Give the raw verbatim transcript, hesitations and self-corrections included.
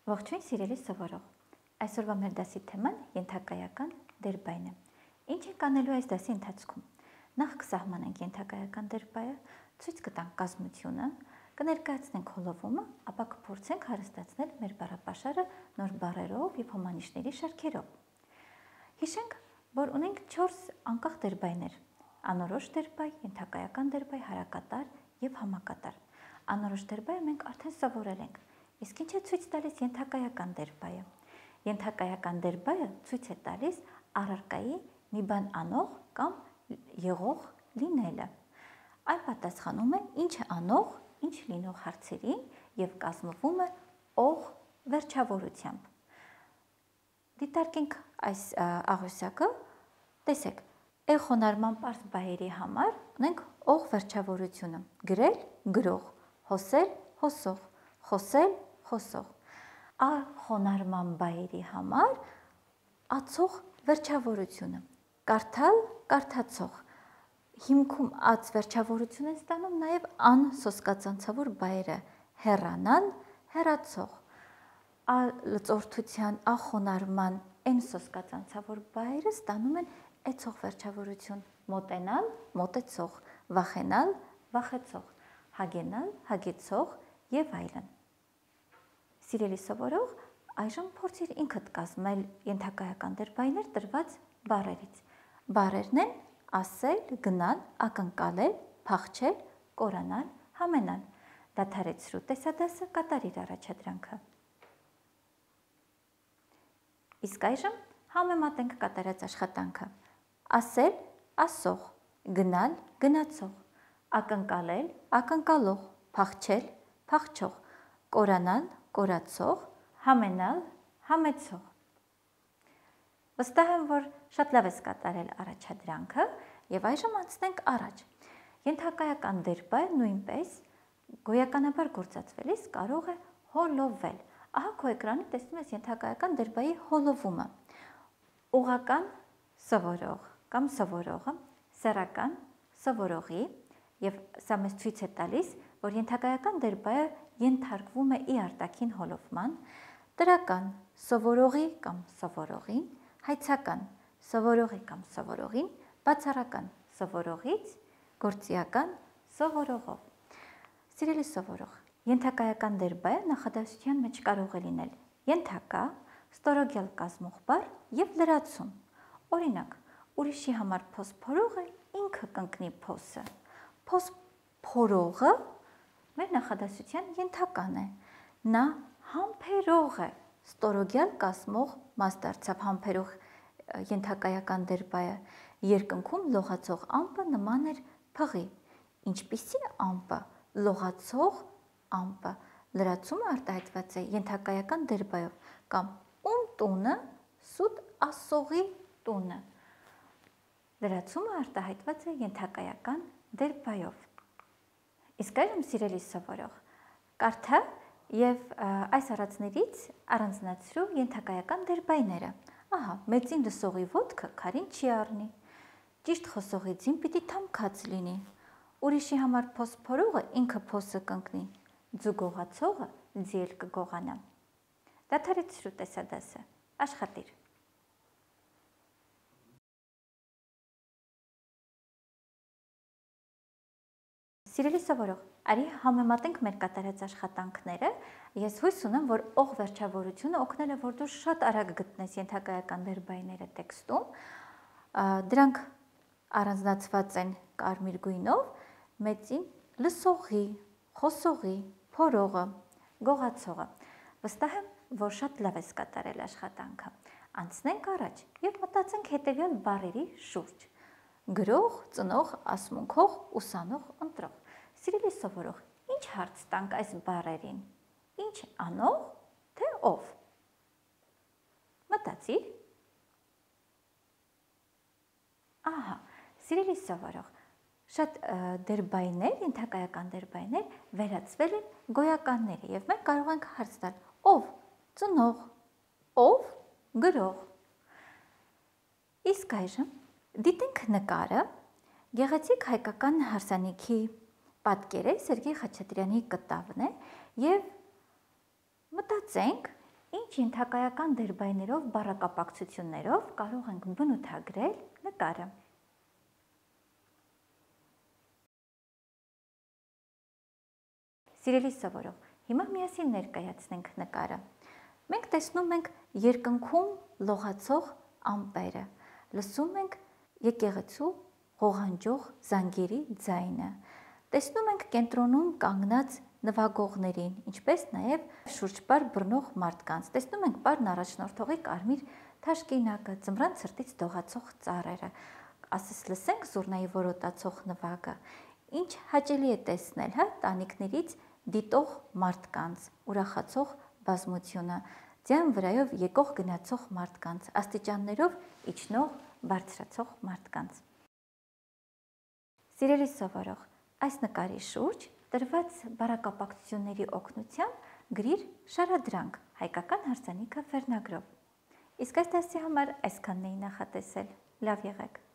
Ողջույն սիրելի սովորող, այսօրվա մեր դասի թեման ենթակայական դերբայն է։ Ինչ ենք անելու այս դասի ընթացքում։ Նախ կսահմանենք ենթակայական դերբայը, ցույց կտանք կազմությունը, կներկայացնենք հոլովումը, ապա կփորձենք հարստացնել մեր բառապաշարը նոր բառերով և հոմանիշների շարքերով։ Հիշենք, որ ունենք չորս անկախ դերբայներ՝ անորոշ դերբայ, ենթակայական դերբայ, հարակատար և համակատար։ Անորոշ դերբայը մենք արդեն սովորել ենք։ Իսկ ինչ է ցույց տալիս ենթակայական դերբայը։ Ենթակայական դերբայը ցույց է տալիս առարկայի մի բան անող կամ եղող լինելը։ Այն պատասխանում է ինչ է անող, ինչ լինող հարցերին և կազմվում է ող վերջավորությամբ։ Դիտարկենք այս աղյուսակը, տեսեք, է խոնարհման պարզ բայերի համար ունենք ող վերջավորությունը՝ գրել, գրող, հոսել, հոսող, խոսել, խոսող։ Ա խոնարհման բայերի համար ացող վերջավորությունը՝ կարդալ, կարդացող։ Հիմքում ած վերջավորություն են ստանում նաև ան սոսկացանցավոր բայերը՝ հեռանալ, հեռացող։ Ա լծորդության, ա խոնարհման են սոսկացանցավոր բայերը ստանում են էցող վերջավորություն՝ մոտենալ, մոտեցող, վախենալ, վախեցող, հագենալ, հագեցող և այլն։ Սիրելի սովորող, այժմ փորձիր ինքդ կազմել ենթակայական դերբայներ տրված բառերից։ Բառերն են ասել, գնալ, ակնկալել, փախչել, կորանալ, համենալ։ Դադարեցրու տեսադասը, կատարիր առաջադրանքը։ Իսկ այժմ համեմատենք կատարած աշխատանքը։ Ասել, ասող, գնալ, գնացող, ակնկալել, ակնկալող, փախչել, փախչող, կորանալ, կորացող, համենալ, համեցող։ Վստահ եմ, որ շատ լավ ես կատարել առաջադրանքը և այժմ անցնենք առաջ։ Ենթակայական դերբայը նույնպես գոյականաբար գործածվելիս կարող է հոլովել։ Ահա քո էկրանի տեսնում ես ենթակայական դերբայի հոլովումը։ Ուղղական սովորող կամ սովորողը, սեռական սովորողի, և սա մեզ ցույց է տալիս, որ ենթակայական դերբայը ենթարկվում է ի արտաքին հոլովման, տրական սովորողի կամ սովորողին, հայցական սովորողի կամ սովորողին, բացառական սովորողից, գործիական սովորողով։ Սիրելի սովորող, ենթակայական դերբայը նախադասության մեջ կարող է լինել ենթակա, ստորոգյալ կազմող բառ և լրացում։ Օրինակ, ուրիշի համար փոս փորողը ինքը կընկնի փոսը։ Փոս փորողը մեր նախադասության ենթական է։ Նա համբերող է, ստորոգյալ կազմող մաս դարձավ համբերող ենթակայական դերբայը։ Երկնքում լողացող ամպը նման էր փղի։ Ինչպիսի ամպը, լողացող ամպը։ Լրացումը արտահայտված է ենթակայական դերբայով կամ ում տունը, սուտ ասողի տունը։ Լրացումը արտահայտված է ենթակայական դերբայով։ Իսկ այժմ սիրելի սովորող, կարդա և այս առածներից առանձնացրու ենթակայական դերբայները։ Ահա, մեծին լսողի ոտքը քարին չի առնի։ Ճիշտ խոսողի ձին պիտի թամքած լինի։ Ուրիշի համար փոս փորողը ինքը փոսը կընկնի։ Ձու գողացողը ձիել կգողանա։ Դադարեցրու տեսադասը, աշխատիր։ Սիրելի սովորող, արի համեմատենք մեր կատարած աշխատանքները։ Ես հույս ունեմ, որ ող վերջավորությունը օգնել է, որ դու շատ արագ գտնես ենթակայական դերբայները տեքստում։ Դրանք առանձնացված են կարմիր գույնով, մեծին լսողի, խոսողի, փորողը, գողացողը։ Վստահ եմ, որ շատ լավ ես կատարել աշխատանքը։ Անցնենք առաջ և մտածենք հետևյալ բառերի շուրջ։ Գրող, ծնող, ասմունքող, ուսանող, ընտրող։ Սիրելի սովորող, ինչ հարց տանք այս բառերին։ Ինչ անող, թե ով։ Մտածիր։ Ահա, սիրելի սովորող, շատ դերբայներ, ենթակայական դերբայներ վերածվել են գոյականների և մենք կարող ենք հարց տալ ով, ծնող, ով, գրող։ Իսկ այժմ դիտենք նկարը, գեղեցիկ հայկական հարսանիքի պատկեր է, Սերգեյ Խաչատրյանի կտավն է և մտածենք Ինչ ենթակայական դերբայներով, բառակապակցություններով կարող ենք բնութագրել նկարը։ Սիրելի սովորող, հիմա միասին ներկայացնենք նկարը։ Մենք տեսնում ենք երկնքում լողացող ամպերը, լսում ենք եկեղեցու ղողանջող զանգերի ձայնը, տեսնում ենք կենտրոնում կանգնած նվագողներին, ինչպես նաև շուրջպար բռնող մարդկանց, տեսնում ենք պարն առաջնորդողի կարմիր թաշկինակը, ձմռան ցրտից դողացող ծառերը, ասես լսենք զուռնայի որոտացող նվագը, ինչ հաճելի է տեսնել, հա, տանիքներից դիտող մարդկանց, ուրախացող բազմությունը, ձյան վրայով եկող գնացող մարդկանց, աստիճաններով իջնող բարձրացող մարդկանց։ Սիրելի սովորող, այս նկարի շուրջ տրված բառակապակցությունների օգնությամբ գրիր շարադրանք հայկական հարսանիքը վերնագրով։ Իսկ այս դասի համար այսքանն էի նախատեսել։ Լավ եղեք։